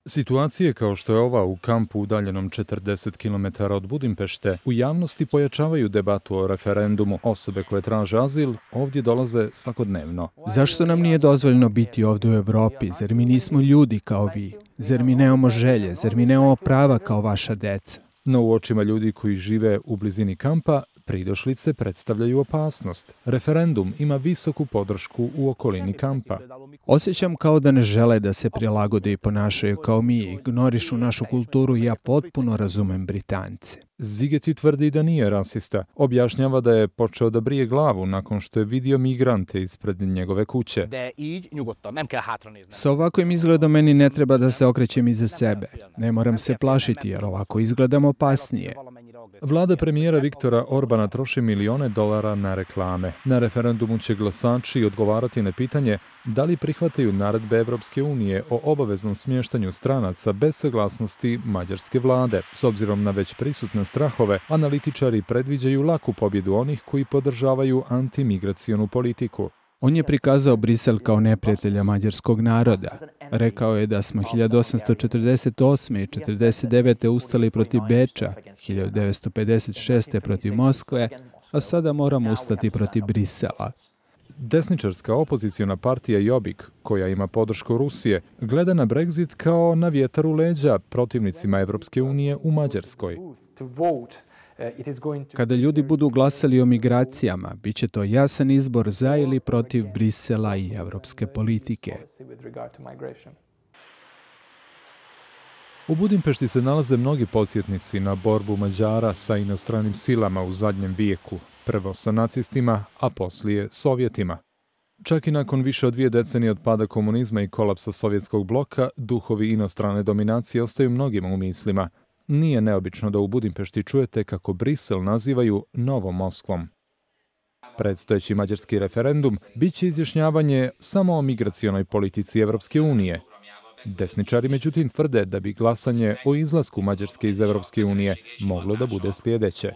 Situacije kao što je ova u kampu udaljenom 40 km od Budimpešte u javnosti pojačavaju debatu o referendumu. Osobe koje traže azil ovdje dolaze svakodnevno. Zašto nam nije dozvoljeno biti ovdje u Evropi? Zar mi nismo ljudi kao vi? Zar mi nemamo želje? Zar mi nemamo prava kao vaša deca? No u očima ljudi koji žive u blizini kampa, pridošlice predstavljaju opasnost. Referendum ima visoku podršku u okolini kampa. Osjećam kao da ne žele da se prilagode i ponašaju kao mi, ignorišu našu kulturu i ja potpuno razumem Britance. Zigeti tvrdi da nije rasista. Objašnjava da je počeo da brije glavu nakon što je vidio migrante ispred njegove kuće. S ovakvim izgledom meni ne treba da se okrećem iza sebe. Ne moram se plašiti jer ovako izgledam opasnije. Vlada premijera Viktora Orbana troši milione dolara na reklame. Na referendumu će glasači odgovarati na pitanje da li prihvataju naredbe Evropske unije o obaveznom smještanju stranaca bez saglasnosti mađarske vlade. S obzirom na već prisutne strahove, analitičari predviđaju laku pobjedu onih koji podržavaju antimigracionu politiku. On je prikazao Brisel kao neprijatelja mađarskog naroda. Rekao je da smo 1848. i 1949. ustali protiv Beča, 1956. protiv Moskve, a sada moramo ustati protiv Brisela. Desničarska opozicijona partija Jobbik, koja ima podršku Rusije, gleda na Brexit kao na vjetar u leđa protivnicima Evropske unije u Mađarskoj. Kada ljudi budu glasali o migracijama, bit će to jasan izbor za ili protiv Brisela i evropske politike. U Budimpešti se nalaze mnogi podsjetnici na borbu Mađara sa inostranim silama u zadnjem vijeku, prvo sa nacistima, a poslije Sovjetima. Čak i nakon više od 2 decenije od pada komunizma i kolapsa sovjetskog bloka, duhovi inostrane dominacije ostaju mnogima u mislima. Nije neobično da u Budimpešti čujete kako Brisel nazivaju novom Moskvom. Predstojeći mađarski referendum bit će izjašnjavanje samo o migracionoj politici Evropske unije. Desničari međutim tvrde da bi glasanje o izlasku Mađarske iz Evropske unije moglo da bude sljedeće.